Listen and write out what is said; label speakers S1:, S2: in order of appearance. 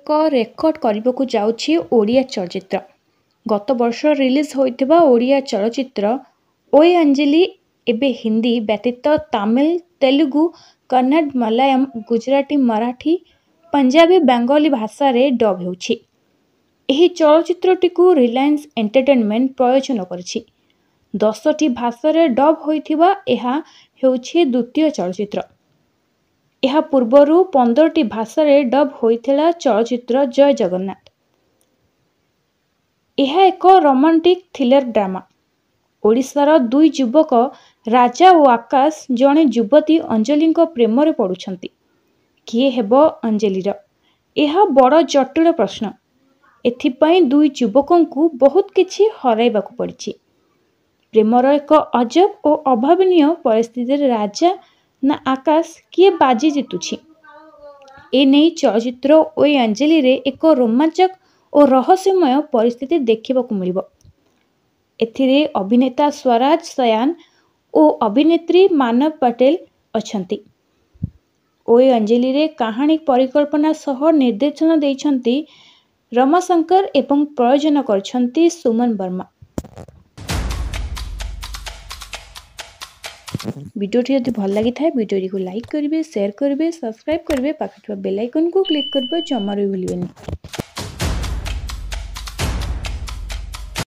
S1: ଏକ ରେକର୍ଡ କରିବାକୁ ଯାଉଛି ଓଡ଼ିଆ ଚଳଚ୍ଚିତ୍ର। ଗତବର୍ଷ ରିଲିଜ୍ ହୋଇଥିବା ଓଡ଼ିଆ ଚଳଚ୍ଚିତ୍ର ଓଏ ଅଞ୍ଜଳି ଏବେ ହିନ୍ଦୀ ବ୍ୟତୀତ ତାମିଲ, ତେଲୁଗୁ, କନ୍ନଡ଼, ମଲୟାଲମ, ଗୁଜରାଟୀ, ମରାଠୀ, ପଞ୍ଜାବୀ, ବେଙ୍ଗଲୀ ଭାଷାରେ ଡବ୍ ହେଉଛି। ଏହି ଚଳଚ୍ଚିତ୍ରଟିକୁ ରିଲାଏନ୍ସ ଏଣ୍ଟରଟେନମେଣ୍ଟ ପ୍ରଯୋଜନା କରିଛି। 10ଟି ଭାଷାରେ ଡବ୍ ହୋଇଥିବା ଏହା ହେଉଛି ଦ୍ୱିତୀୟ ଚଳଚ୍ଚିତ୍ର। ଏହା ପୂର୍ବରୁ 15ଟି ଭାଷାରେ ଡବ୍ ହୋଇଥିଲା ଚଳଚ୍ଚିତ୍ର ଜୟ ଜଗନ୍ନାଥ। ଏହା ଏକ ରୋମାଣ୍ଟିକ୍ ଥ୍ରୀଲର ଡ୍ରାମା। ଓଡ଼ିଶାର ଦୁଇ ଯୁବକ ରାଜା ଓ ଆକାଶ ଜଣେ ଯୁବତୀ ଅଞ୍ଜଳିଙ୍କ ପ୍ରେମରେ ପଡ଼ୁଛନ୍ତି। କିଏ ହେବ ଅଞ୍ଜଳିର? ଏହା ବଡ଼ ଜଟିଳ ପ୍ରଶ୍ନ। ଏଥିପାଇଁ ଦୁଇ ଯୁବକଙ୍କୁ ବହୁତ କିଛି ହରାଇବାକୁ ପଡ଼ିଛି। ପ୍ରେମର ଏକ ଅଜବ ଓ ଅଭାବନୀୟ ପରିସ୍ଥିତିରେ ରାଜା ନା ଆକାଶ କିଏ ବାଜି ଜିତୁଛି, ଏନେଇ ଚଳଚ୍ଚିତ୍ର ଓଏ ଅଞ୍ଜଳିରେ ଏକ ରୋମାଞ୍ଚକ ଓ ରହସ୍ୟମୟ ପରିସ୍ଥିତି ଦେଖିବାକୁ ମିଳିବ। ଏଥିରେ ଅଭିନେତା ସ୍ୱରାଜ ସୟାନ ଓ ଅଭିନେତ୍ରୀ ମାନବ ପଟେଲ ଅଛନ୍ତି। ଓଏ ଅଞ୍ଜଳିରେ କାହାଣୀ ପରିକଳ୍ପନା ସହ ନିର୍ଦ୍ଦେଶନା ଦେଇଛନ୍ତି ରମାଶଙ୍କର ଏବଂ ପ୍ରଯୋଜନା କରିଛନ୍ତି ସୁମନ ବର୍ମା। ଭିଡ଼ିଓଟି ଯଦି ଭଲ ଲାଗିଥାଏ, ଭିଡ଼ିଓଟିକୁ ଲାଇକ୍ କରିବେ, ସେୟାର କରିବେ, ସବସ୍କ୍ରାଇବ୍ କରିବେ, ପାଖରେ ଥିବା ବେଲ୍ ଆଇକନ୍କୁ କ୍ଲିକ୍ କରିବା ଜମାରୁ ବି ଭୁଲିବେନି।